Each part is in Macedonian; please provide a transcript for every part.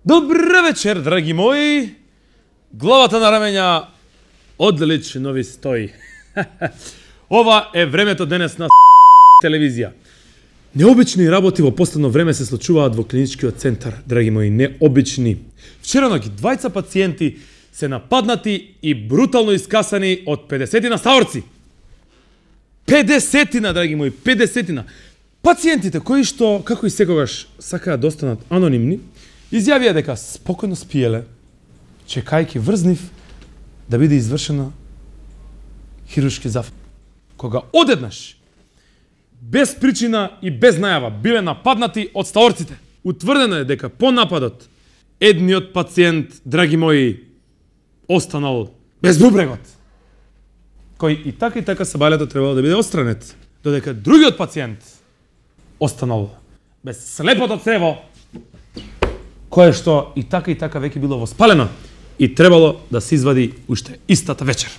Добре вечер, драги мои! Главата на рамења одлично ви стои. Ова е времето денес на телевизија. Необични работи во последно време се случуваат во клиничкиот центар, драги мои, необични. Вчера ноќ двајца пациенти се нападнати и брутално искасани од 50 стаорци. 50, драги мои, 50. Пациентите кои што, како и секогаш, сакаат да останат анонимни, изјавија дека спокойно спиеле, чекајќи врз нив да биде извршена хируршки зафат. Кога одеднаш, без причина и без најава, биле нападнати од стаорците, утврдено е дека по нападот едниот пациент, драги мои, останал без бубрегот, кој и така сабалето требало да биде отстранет, додека другиот пациент останал без слепото црево, кое што и така веќе било воспалено и требало да се извади уште истата вечер.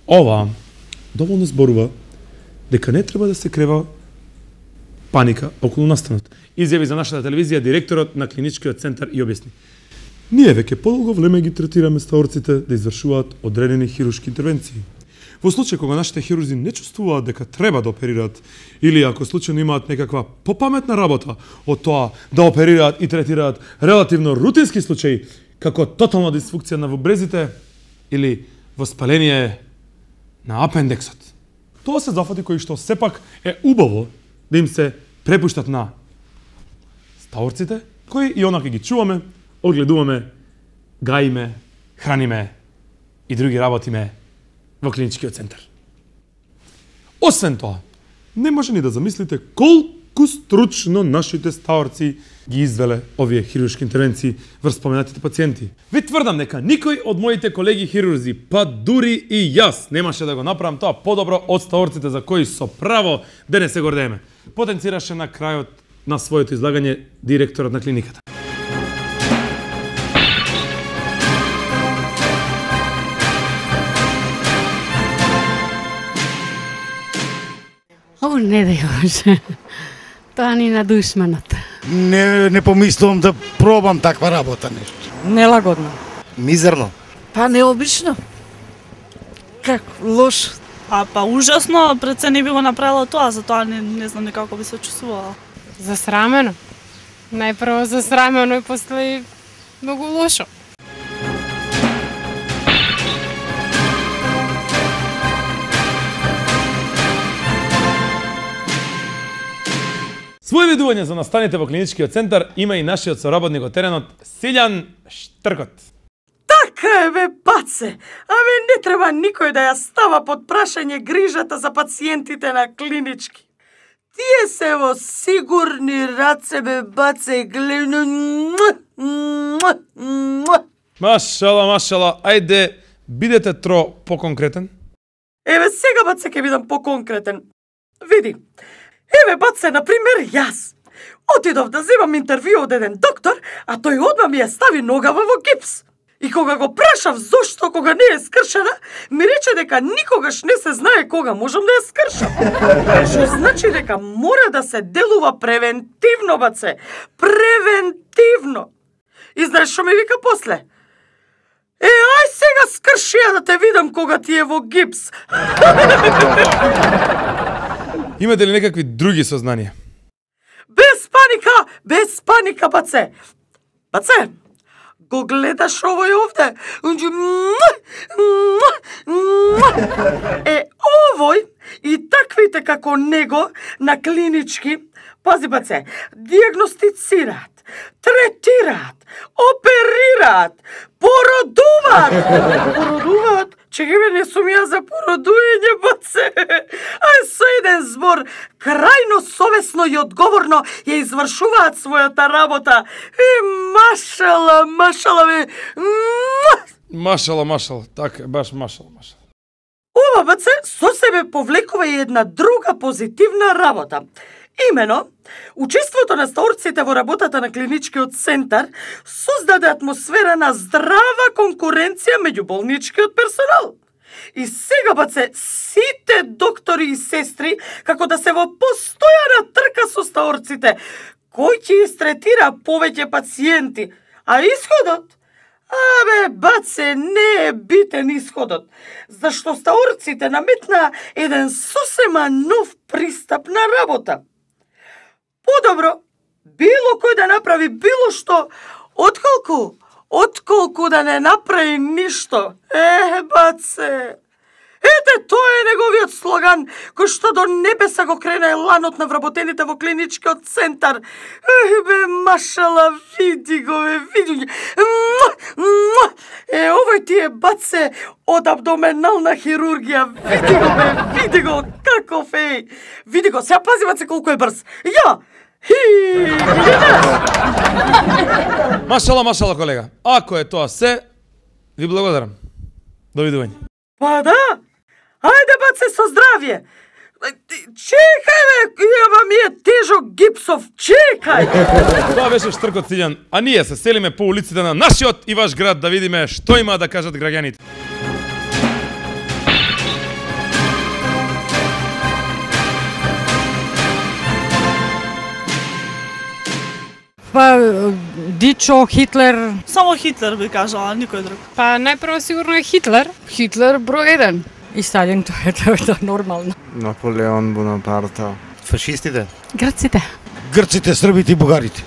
Ова доволно зборува дека не треба да се крева паника околу настанот. Изјави за нашата телевизија директорот на клиничкиот центар и објасни: ние веќе подолго време ги третираме стаорците да извршуваат одредени хируршки интервенции. Во случај кога нашите хирурзи не чувствуваат дека треба да оперираат или ако случајно имаат некаква попаметна работа од тоа да оперираат и третираат релативно рутински случаи, како тотална дисфункција на вобрезите или воспаление на апендексот. Тоа се зафати кои што сепак е убаво да им се препуштат на стаорците, кои и онака ги чуваме, огледуваме, гаиме, храниме и други работиме во клиничкиот центар. Освен тоа, не може ни да замислите колку стручно нашите стаорци ги извеле овие хируршки интервенции врз споменатите пациенти. Ви тврдам дека никој од моите колеги хирурзи, па дури и јас, немаше да го направам тоа подобро од стаорците за кои со право денес се гордееме, потенцираше на крајот на своето излагање директорот на клиниката. О, не да јоше. Тоа ни на душманот. Не помислувам да пробам таква работа нешто. Нелагодно. Мизерно. Па необично. Како лошо. Па ужасно, пред се не би го направила тоа, затоа не знам некако би се чувствувала. Засрамено. Најпрво засрамено и после многу лошо. Свој видување за настаните во клиничкиот центар има и нашиот соработник од теренот Силјан Штркот. Така е, бе, баце! Абе, не треба никој да ја става под прашање грижата за пациентите на клинички. Тие се во сигурни раце, бе, баце, гледно. Машала, ајде, бидете поконкретен. Еве, сега, баце, ќе бидам поконкретен. Види, еве, баце, например, јас. Отидов да земам интервју од еден доктор, а тој одма ми ја стави ногава во гипс. И кога го прашав зошто кога не е скршена, ми рече дека никогаш не се знае кога можам да ја скршам. Што значи дека мора да се делува превентивно, баце. Превентивно. И знаеш што ми вика после? Ај сега скрши ја да те видам кога ти е во гипс. Имате ли некакви други сознанија? Без паника, баце. Баце, го гледаш овој овде? Овој и таквите како него на клинички, пази, баце, диагностицираат, третираат, оперираат, породуваат. Чекај, не сум ја за породување, баце. Ај со еден збор, крајно совесно и одговорно ја извршуваат својата работа. Машала, бе. Машала, така, баш машала. Ова, баце, со себе повлекува и една друга позитивна работа. Имено, учеството на стаорците во работата на клиничкиот центар создаде атмосфера на здрава конкуренција меѓу болничкиот персонал. И сега, баце, сите доктори и сестри, како да се во постојана трка со стаорците, кој ќе истретира повеќе пациенти, а исходот? Абе, баце, не е битен исходот, зашто стаорците наметнаа еден сосема нов пристап на работа. Подобро, било кој да направи било што, отколку да не направи ништо. Баце, ете, тоа е неговиот слоган, кој што до небеса го крена еланот на вработените во клиничкиот центар. Бе, машала, види го, види го. Овој ти е, баце, од абдоменална хирургија. Види го, каков е. Види го, сега пази, баце, колку е брз. Ја! Машала, колега. Ако е тоа се, ви благодарам. Довидување. Па да, ајде баце со здравје. Чекај бе, јава ми е тежок гипсов, чекај. Тоа беше Штркот Силјан, а ние се селиме по улиците на нашиот и ваш град да видиме што има да кажат граѓаните. Па, Дичо, Хитлер. Само Хитлер би кажала, никој друг. Па најпрво сигурно е Хитлер. Хитлер број 1. И Сталин, тоа е нормално. Наполеон Бонапарта. Фашистите. Грците. Грците, србите и бугарите.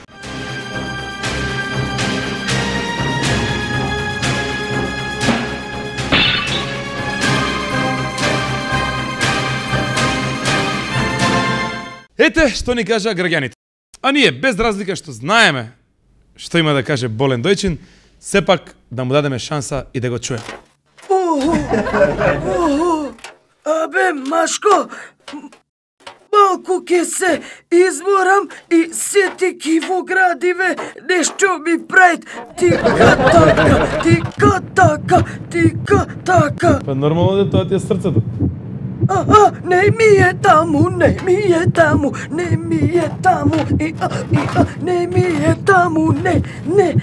Ете што ни кажа граѓаните. А ние, без разлика што знаеме што има да каже Болен Дојчин, сепак да му дадеме шанса и да го чуеме. Абе, Машко, малку ке се изморам и сетики во градиве нешто ми правит тика така. Па нормално да тоа ти е срцето. Не ми е таму, не ми е таму, не ми е таму, не ми е таму, не ми е таму.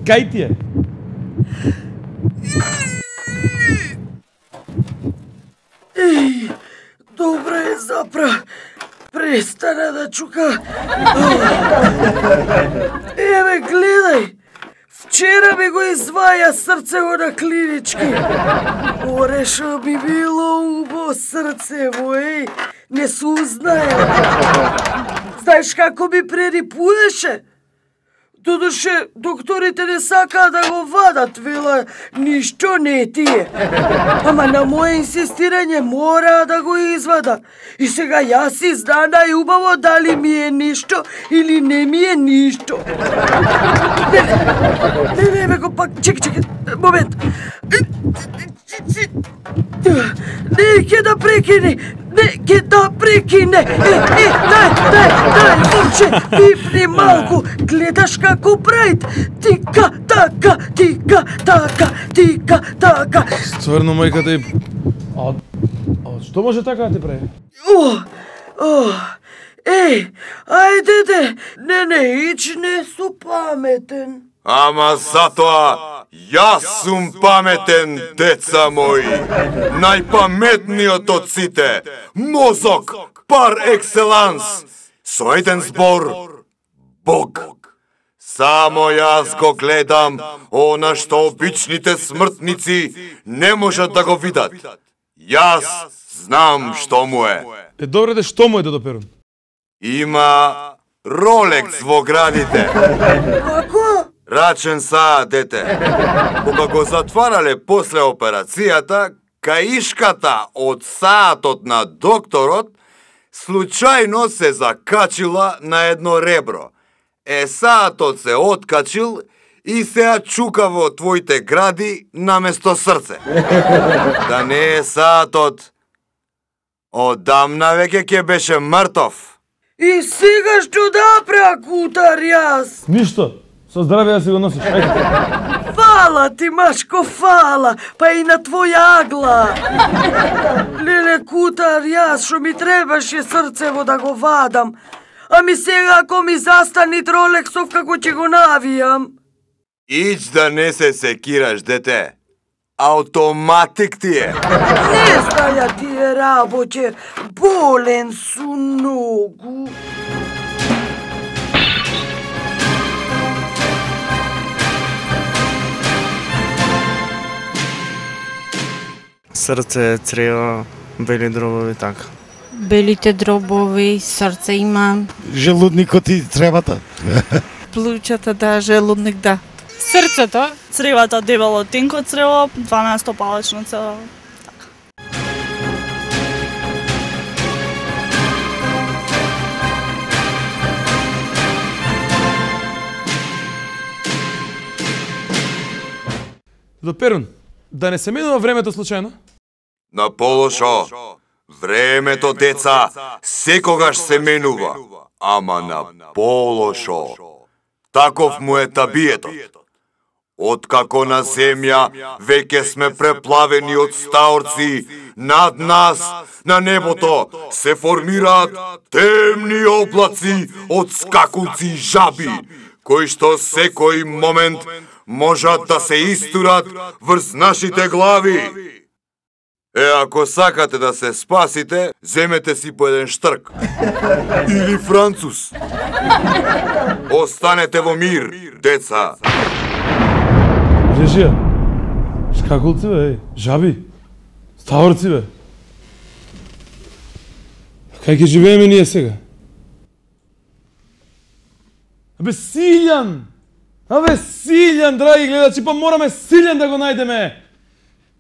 Кај ти е? Добре, запра. Престана да чука. Еве, гледај. Вчера ми го изваја срцево на клинички. Орешо би било убо срцево, не се узнаја. Знаеш како ми прерипуеше? Додуше, докторите не сакаа да го вадат, вела, ништо не тие. Ама на моје инсистирање мораа да го извада. И сега јас си знана и убаво дали ми е ништо или не ми е ништо. Не, го пак, чекай, момент. Не ќе да прекине. Дај, момче, пипни малку, гледаш како правит. Тика, така. Стварно, мајката и... А што може така да ти прави? Ајде, не, ич не су паметен. Ама затоа, јас сум паметен, деца мои. Најпаметниот од сите. Мозок, пар екселанс. Со еден збор, Бог. Само јас го гледам, она што обичните смртници не можат да го видат. Јас знам што му е. Добре де, што му е, Дедо Перун? Има Ролекс во градите. Како? Рачен саат, дете. Кога го затварале после операцијата, каишката од саатот на докторот случајно се закачила на едно ребро. Саатот се откачил и се чука во твоите гради наместо срце. Да не е саатот, одамна веќе ќе беше мртов. И сега што да преакутар јас? Ништо. Со здравје да си го носиш. Ајде. Фала ти, Машко, фала. Па и на твоја агла. Леле, кутар, јас што ми требаше срцево да го вадам. Ами сега ако ми застани Ролексов, како ќе го навијам? Ич да не се секираш, дете. Автоматик ти е. Не знаја тие работе. Болен су многу. Срце, црево, бели дробови, така. Белите дробови, срце имам. Желудникот и требата. Плуќата, да, желудник, да. Срцето, Цревата дебело тенко црево, 12 палечно црево. До Перун, да не се менува времето случајно? На полошо, времето, деца, секогаш се менува, ама на полошо. Таков му е табиетот. Откако на земја веќе сме преплавени од стаорци, над нас, на небото, се формираат темни облаци од скакулци и жаби, кои што секој момент можат да се истурат врз нашите глави. Ако сакате да се спасите, земете си по еден штрк. Или француз. Останете во мир, деца. Режија. Шкакулци, бе, жаби. Стаорци, бе. Кај ќе живееме ние сега? Абе, Силјан! Абе, Силјан, драги гледачи, па мораме Силјан да го најдеме!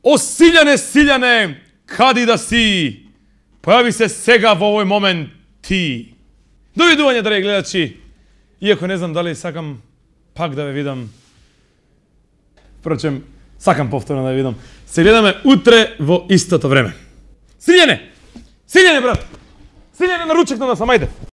О, Силјане, Силјане, кади да си? Појави се сега во овој момент ти. Довидување, драги гледачи. Иако не знам дали сакам пак да ве видам. Впрочем, сакам повторно да ве видам. Се гледаме утре во истото време. Силјане! Силјане, брат! Силјане, на ручек на нас, амајде!